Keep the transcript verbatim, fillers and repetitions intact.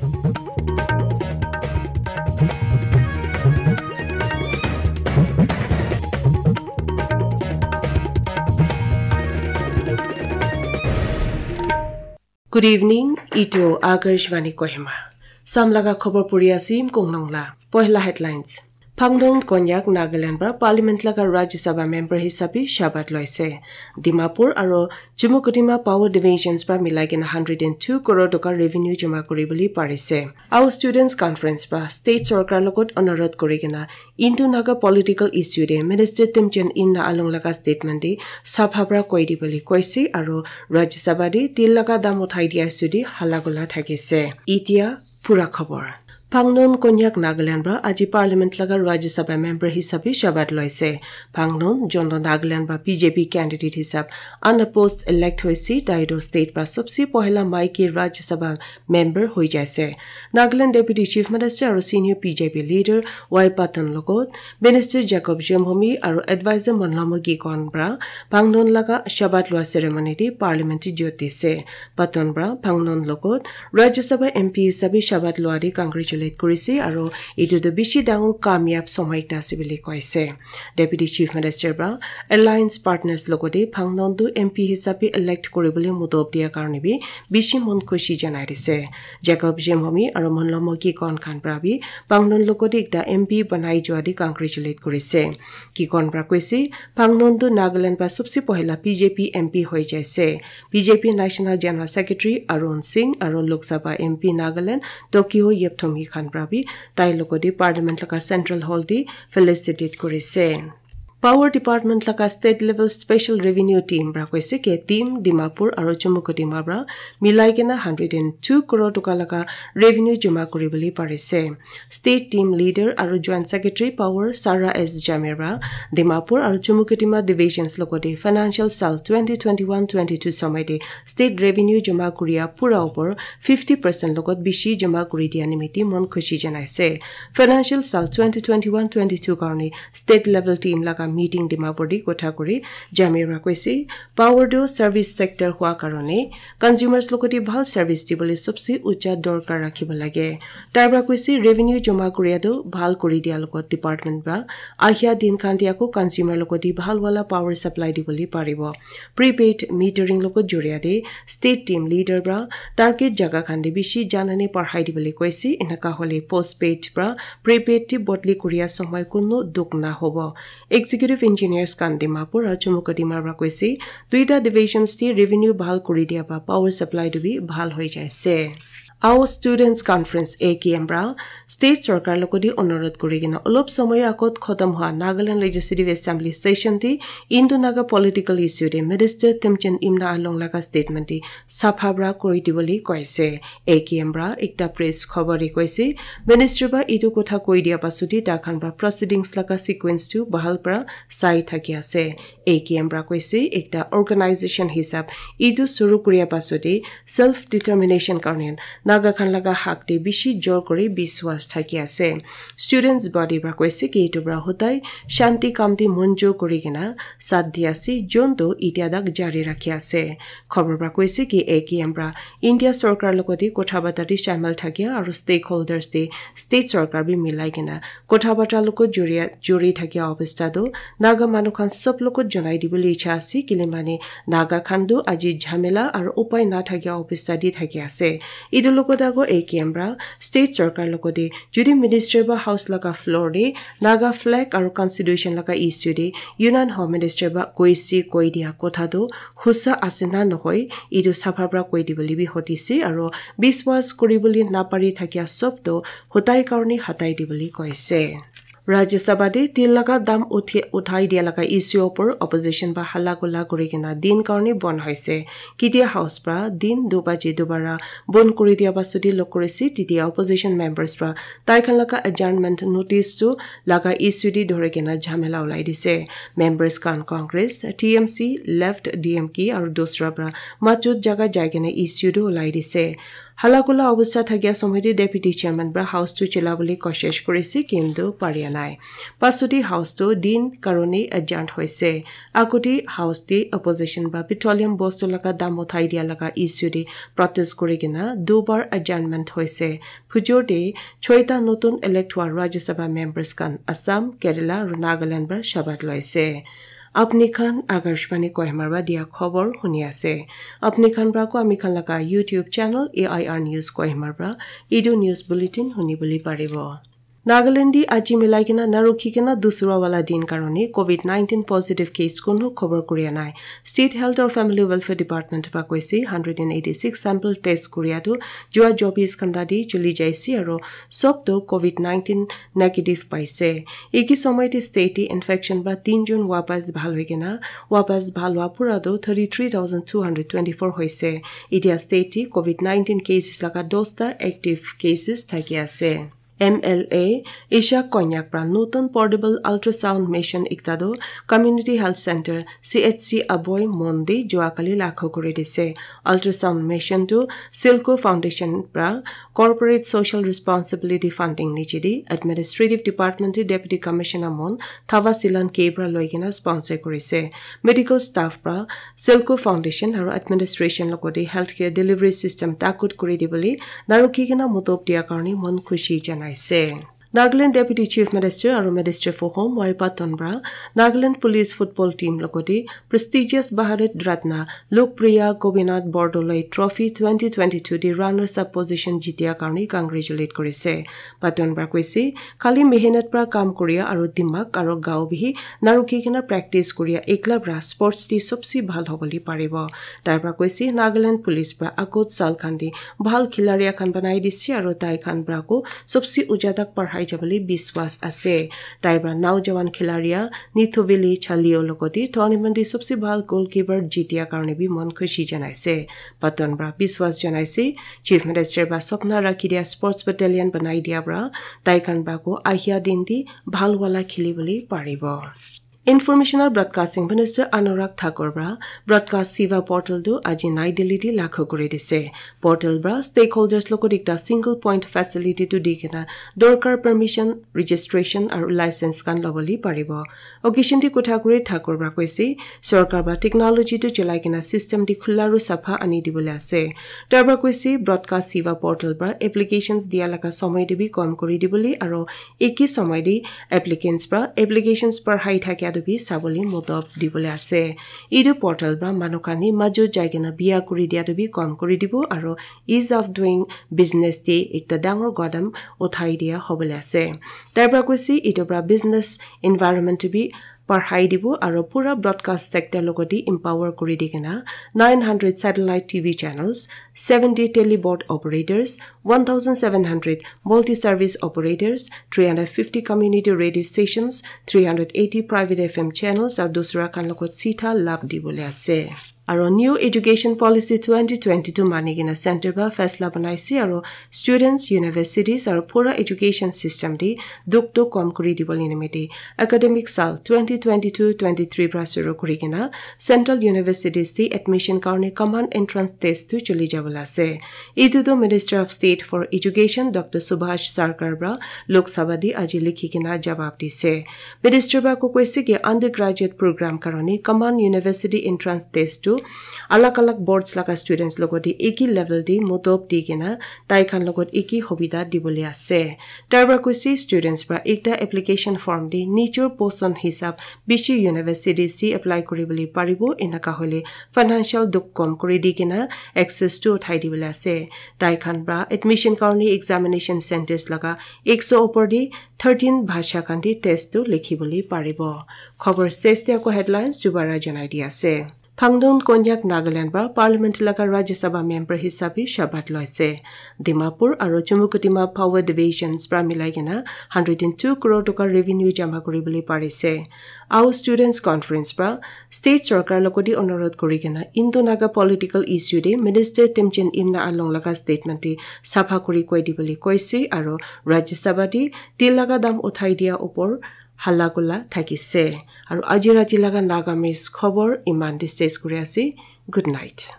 Good evening, itu Akashvani Kohima. Samlaga khobor puri asim kongnong la. Pohla headlines. Phangnon Konyak Nagaland pra Parliament laga Rajya Sabha member hisabi shabat loise. Dimapur aro Chumukedima Power Divisions pra milai kena hundred and two crore toka revenue joma kuri bole parise. Ao Students Conference pra State Sorkar logot onurodh kuri kena Indo Naga political issue de Minister Temjen Imna Along laga statement de sapha pra koi di bole koise aro Rajya Sabha de til laga dam uthai dia issue de hala gola thakise. Itia pura khobor. Phangnon Konyak Nagaland pra aji Parliament laga Rajya Sabha member hisabi shabat loise. Phangnon, jonto Nagaland pra B J P candidate hisab unopposed elect hoise, tai toh state pra sobse pohela maiki Rajya Sabha member hoi jaise. Nagaland Deputy Chief Minister aro senior B J P leader Y Patton logot Minister Jacob Jemhomi aro advisor Monlamo Gikon pra Phangnon laga shabat lua ceremony de Parliament jot dise. Patton pra Phangnon logot Rajya Sabha M P hisabi shabat lua de congratulate kurise aro etu toh bishi dangor kamyab somoi ekta ase bole koise. Deputy Chief Minister pra alliance partners logote Phangnon tu M P hisabi elect kuribole mudop dia karne bi bishi mon khushi janai dise. Jacob Jemhomi aro Monlamo Gikon khan pra bi Phangnon logote ekta M P banai jua de congratulate kurise. Gikon pra koise, Phangnon tu Nagaland pra sobse pohela B J P M P hoi jaise. B J P National General Secretary Arun Singh aro Lok Sabha M P Nagaland Tokyo Yepthomi khan pra bi tai logote Parliament laga Central Hall de felicitate kurise. Power Department laga State Level Special Revenue Team pra koise ke team Dimapur aro Chumukedima pra milai kena hundred and two crore toka laga revenue joma kuri bole parise. State Team Leader aro Joint Secretary Power Sarah S Jamir pra Dimapur aro Chumukedima Divisions logote financial sal twenty twenty-one twenty-two somoi de state revenue joma kuria pura upor fifty percent logot bishi joma kuri dia nimite mon khushi janaise. Financial sal twenty twenty-one twenty-two karne state level team laga meeting Dimapur de kotha kuri Jamir pra koise, power tu service sector hua karone consumers logote bhal service dibole sobse ucha dorkar rakhibo lage. Tai pra koise revenue joma kuria tu bhal kuri dia logot department pra ahia din khan de ako consumer logote bhal wala power supply dibole paribo. Prepaid metering logot joria de state team leader pra target jaga khan de bishi janane parhai dibole koise, enaka hole postpaid pra prepaid de bodli kuria somoi kuno dukh na hobo. Executive Engineers khan Dimapur aro Chumukedima pra koise, duita divisions te revenue bhal kuri dia pra power supply tu bi bhal hoi jaise. Ao Students Conference A K M pra State Sorkar logote onurodh kuri kena olop somoy agot khotom hua Nagaland Legislative Assembly session te Indo Naga political issue te Minister Temjen Imna Along laga statement te sapha pra kuri dibole koise. A K M pra ekta press khobor de koise, Minister pra etu kotha koi dia pasute tai khan pra proceedings laga sequence tu bhal pra sai thaki ase. A K M pra koise, ekta organization hisab etu suru kuria pasute self determination karne Naga khan laga hak te bishi jor kuri biswas thaki ase. Students body pra koise ki etu pra hodai shanti kam te monjor kuri kena sat di ase, jon tu itia tak jari rakhi ase. Khobor pra koise ki A K M pra India sorkar logote kotha bata te shamil thakia aro stakeholders te state sorkar bi milai kena kotha bata logot joria juri thakia obostha tu Naga manu khan sob logot janai dibole icha ase, kile mane Naga khan tu aji jhamela aro upai na thakia obostha te thaki ase. Etu logot ago A K M pra state sorkar logote jodi minister ba house laga floor te Naga flag aro constitution laga issue te Union Home Minister ba koise koi dia kotha tu hosa ase na nohoi, etu sapha pra koi dibole bi hotise aro biswas kuribole napari thakia sob tu hotai karne hatai dibole koise. Rajya Sabha te til laga dam uthi-, uthai dia laga issue opor opposition ba hala gola kuri kena din karne bon hoise. Ketia House pra din du baji dubara bon kuri dia pasute log kurise, tetia opposition members pra tai khan laga adjournment notice tu laga issue te dhori kena jhamela ulai dise. Members khan Congress, T M C, Left, D M K aru dusra pra majot jaga jai kena issue tu ulai dise. Hala kula obostha thakia somoy te Deputy Chairman para House tu chila bole koshish kurise, kintu paria nai. Pasudi House tu din karone adjourn hoise. Agudi House te opposition para petroleum bostu laga dam uthai dia laga issue te protest kuri kena dubar adjournment hoise. Phujor te choita notun elect hua Rajya Sabha members khan Assam, Kerala aru Nagaland para shabat loise. Apni khan Akashvani Kohima para dia khobor huni ase. Apni khan para ko ami khan laga YouTube channel A I R News Kohima para etu news bulletin huni bole paribo. Nagaland di aji milai kena narukhi kena dusra wala din karone covid nineteen positive case kunu khobor kuria nai. State Health or Family Welfare Department para koise hundred and eighty six sample test kuria tu jua chobis ghanta di chuli jaise aro sob to covid nineteen negative paise. Eki somoy te state te infection para tinjon wapas bhal hoi kena wapas bhal hua pura to thirty three thousand two hundred twenty four hoise. Etia state te covid nineteen cases laga dosta active cases thaki ase. M L A Isha Konyak para notun portable ultrasound machine ekta tu Community Health Center C H C Aboi Mon te jua kali lakho kuri dise. Ultrasound machine tu Silco Foundation para Corporate Social Responsibility Funding niche te Administrative Department te Deputy Commissioner Mon Thava Silan K para loi kena sponsor kurise. Medical staff para Silco Foundation aru administration logote healthcare delivery system takut kuri dibole narukhi kena motop dia karone mon khushi janaise. Nagaland Deputy Chief Minister aru Minister for Home Y Patton para Nagaland Police Football Team logote prestigious Bharat Ratna Lokpriya Gopinath Bordoloi Trophy twenty twenty-two te runners up position jitia karone congratulate kurise. Patton para koise, khali mehenat para kam kuria aru dimak aru gao bihi narukhi kena practice kuria ekla para sports te sobse bhal hobole paribo. Tai para koise, Nagaland Police para agot sal khan te bhal khilaria khan banai dise aru tai khan para ko sobse uja tak parhai jabole biswas ase. Tai para naujawan khilaria Nithuvili Chalio logote tournament te sobse bhal goalkeeper jitia karone bi mon khushi janaise. Patton para biswas janaise, Chief Minister para sopna rakhi dia sports battalion banai dia para tai khan para ko ahia din te bhal wala kheli bole paribo. Information and Broadcasting Minister Anurag Thakur para Broadcast Seva Portal tu aji Nai Delhi te lakho kuri dise. Portal para stakeholders logot ekta single point facility tu di kena dorkar permission, registration aru license khan lobole paribo. Occasion te kotha kuri Thakur para koise, sorkar para technology tu cholai kena system te khula aru sapha ani dibole ase. Tai para koise, Broadcast Seva Portal para applications dia laga somoy te bi kom kuri dibole aru eki somoy te applicants para applications parhai thakia tu bi sabole motop dibole ase. Etu portal para manu khan ni majo jai kena bia kuri dia tu bi kom kuri dibo aru ease of doing business te ekta dangor qadam uthai dia hobole ase. Tai para koise, etu para business environment tu bi parhai dibo aru pura broadcast sector logote empower kuri di kena nine hundred satellite T V channels, seventy teleboard operators, one thousand seven hundred multi-service operators, three hundred fifty community radio stations, three hundred eighty private F M channels aru dusra khan logot sitha labh dibole ase. Aru New Education Policy twenty twenty-two mani kena center para faisla banaise aru students, universities aru pura education system te dukh tu kom kuri dibole nimite academic sal twenty twenty-two twenty-three para shuru kuri kena Central Universities te admission karone common entrance test tu chuli jabole ase. Etu tu Minister of State for Education Doctor Subhash Sarkar para Lok Sabha te aji likhi kena jawab dise. Minister para ko koise ki undergraduate program karone common university entrance test tu alag alag boards laga students logote eki level te motop di kena tai khan logot eki hobida dibole ase. Tai para koise students para ekta application form te nijor poson hisab bishi universities te apply kuri bole paribo, enaka hoile financial dukh kom kuri di kena access tu uthai dibole ase. Tai khan para admission karone examination centers laga ekso opor te thirteen bhasha khan te test tu likhi bole paribo. Khobor ses te ako headlines dubara janai di ase. Phangdon Konyak Nagaland para Parliament laga Rajya Sabha member hisabe shabat loise. Dimapur aru Chumukedima Power Divisions para milai kena hundred and two crore toka revenue jama kuri bole parise. Ao Students Conference para state sorkar logote onurodh kuri kena Indo Naga political issue te Minister Temjen Imna Along laga statement te sapha kuri koi dibole koise aru Rajya Sabha te til laga dam uthai dia opor hala kula thakise. Aru aji rati laga Nagamese khobor iman te ses kuri ase. Good night.